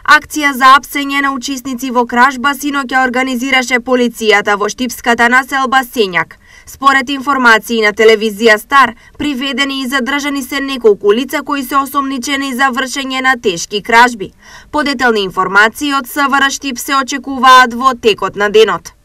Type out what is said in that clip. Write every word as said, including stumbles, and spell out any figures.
Акција за апсење на учесници во кражба синоќа организираше полицијата во штипската населба Сењак. Според информации на телевизија Стар, приведени и задржани се неколку лица кои се осомничени за вршење на тешки кражби. Подетелни информации од СВР Штип се очекуваат во текот на денот.